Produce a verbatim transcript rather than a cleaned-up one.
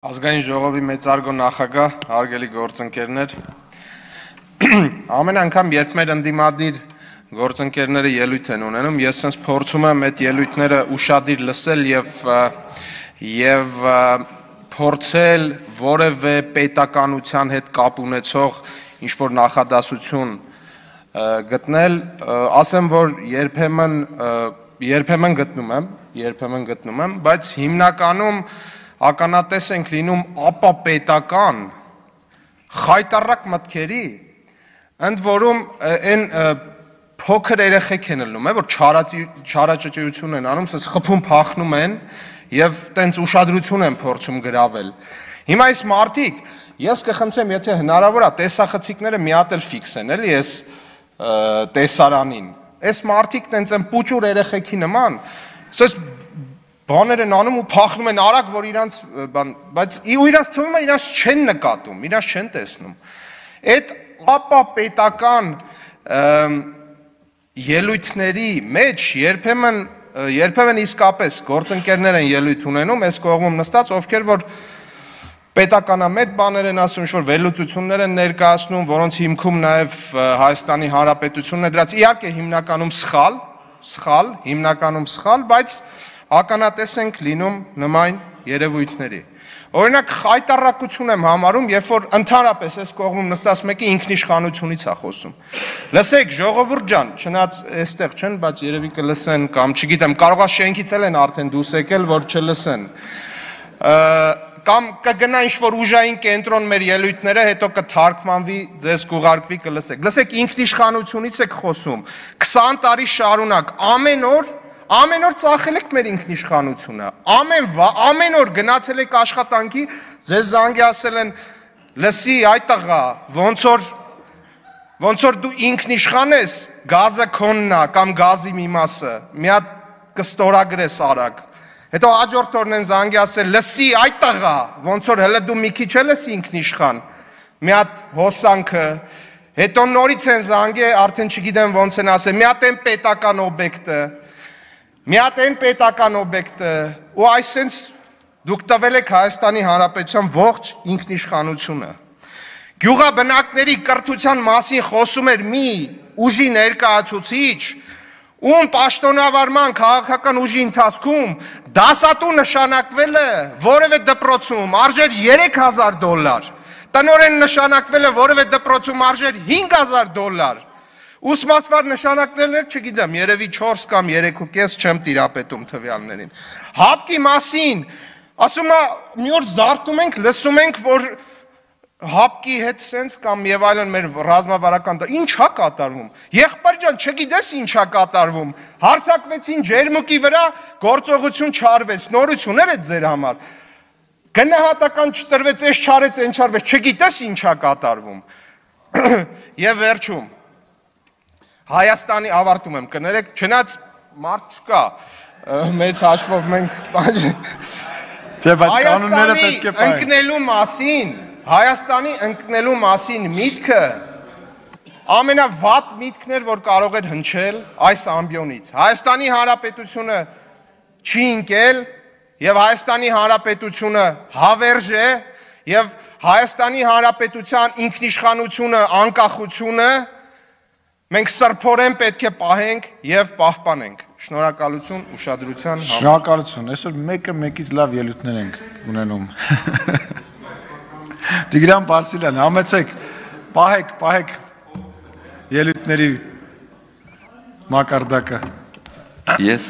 Ազգային ժողովի մեծարգո նախագահ, հարգելի գործընկերներ, ամեն անգամ երբ մեր ընդդիմադիր գործընկերները ելույթ են ունենում, ես sense փորձում եմ այդ ելույթները ուշադիր լսել եւ եւ փորձել որևէ պետականության հետ կապ ունեցող ինչ որ նախադասություն գտնել, ասեմ որ երբեմն երբեմն գտնում եմ, երբեմն գտնում եմ, բայց հիմնականում ականատես ենք լինում ապապետական խայտառակ մտքերի, ընդ որում այն փոքր երեխեք են ելնում, որ չարաճճիություն են անում, ասես խփում փախնում են եւ տենց ուշադրություն են փորձում գրավել։ Հիմա այս մարդիկ, ես կխնդրեմ, եթե հնարավոր է, տեսախցիկները մի հատ էլ ֆիքսեն, էլի այս տեսարանին։ Այս մարդիկ տենց են պուճուր երեխեքի նման, ասես բաներ են անում ու փախնում են արագ, որ իրանց բան, բայց ու իրանց թվում է իրանց չեն նկատում, իրանց չեն տեսնում։ Այդ ապապետական ելույթների մեջ երբեմն երբեմն իսկապես գործընկերներ են ելույթ ունենում, այս կողմում նստած, ովքեր որ պետականամետ բաներ են ասում, ինչ-որ վերլուծություններ են ներկայացնում, որոնց հիմքում նաև Հայաստանի Հանրապետությունն է դրած, իհարկե հիմնականում սխալ, սխալ, հիմնականում սխալ, բայց ականատես ենք լինում նման երևույթների։ Օրինակ խայտառակություն եմ համարում, երբ որ ընդհանրապես այս կողմում նստած մեկը ինքնիշխանությունից է խոսում։ Լսեք, ժողովուրդ ջան, չնայած այստեղ չեն, բայց երևի կլսեն կամ չգիտեմ, կարող է շենքից էլ են արդեն դուրս եկել, որ չլսեն։ Կամ կգնա ինչ-որ ուժային կենտրոն մեր ելույթները, հետո կթարգմանվի, ձեզ կուղարկվի, կլսեք։ Լսեք, ինքնիշխանությունից եք խոսում։ քսան տարի շարունակ, ամեն օր Ամեն օր ծախել եք մեր ինքնիշխանությունը, ամեն, ամեն օր գնացել եք աշխատանքի, ձեզ զանգի ասել են, լսի այ տղա, ոնց որ, ոնց որ դու ինքնիշխան ես, գազը քոնն է, կամ գազի մի մասը, մի հատ կստորագրես արագ, հետո հաջորդ օրն են զանգի ասել, լսի այ տղա, ոնց որ հələ դու մի քիչ էլ ես ինքնիշխան, մի հատ հոսանքը, հետո նորից են զանգի, արդեն չգիտեմ ոնց են ասել, մի հատ են պետական օբյեկտը, մի հատ են պետական օբյեկտը, ու այսենց դուք տվել եք Հայաստանի Հանրապետության ողջ ինքնիշխանությունը։ Գյուղաբնակների կրթության մասին խոսում էր մի ուժի ներկայացուցիչ, ում պաշտոնավարման քաղաքական ուժի ընթացքում դասատու նշանակվել է որևէ դպրոցում արժեր երեք հազար դոլար, տնօրեն նշանակվել է որևէ դպրոցում արժեր հինգ հազար դոլար, ուսմասվար նշանակներներ չգիտեմ, երևի չորս կամ երեք ու կես չեմ տիրապետում տվյալներին։ Հապկի մասին, ասում է, մի օր զարթում ենք, լսում ենք, որ հապկի հետ սենց կամ եւ այլն մեր ռազմավարական, ինչ է կատարվում։ Եղբայր ջան, չգիտես ինչ է կատարվում։ Հարձակվեցին ջերմուկի վրա, գործողություն չարվեց, նորություններ է ձեր համար։ Գնահատական չտրվեց, այս չարեց, այն չարվեց, չգիտես ինչ է կատարվում։ Եվ վերջում Հայաստանի ավարտում եմ, կներեք, չնայած մարդ չկա, մեծ հաշվով մենք Հայաստանի ընկնելու մասին, Հայաստանի ընկնելու մասին միտքը ամենավատ միտքն էր, որ կարող էր հնչել այս ամբիոնից։ Հայաստանի Հանրապետությունը չի ընկել եւ Հայաստանի Հանրապետությունը հավերժ է եւ Հայաստանի Հանրապետության ինքնիշխանությունը, անկախությունը մենք սրբորեն պետք է պահենք եւ պահպանենք։ Շնորհակալություն ուշադրության համար։ Շնորհակալություն։ Այսօր մեկը մեկից լավ ելույթներ ենք ունենում։ Տիգրան Պարսիլյան, համեցեք, պահեք, պահեք ելույթների մակարդակը։ Ես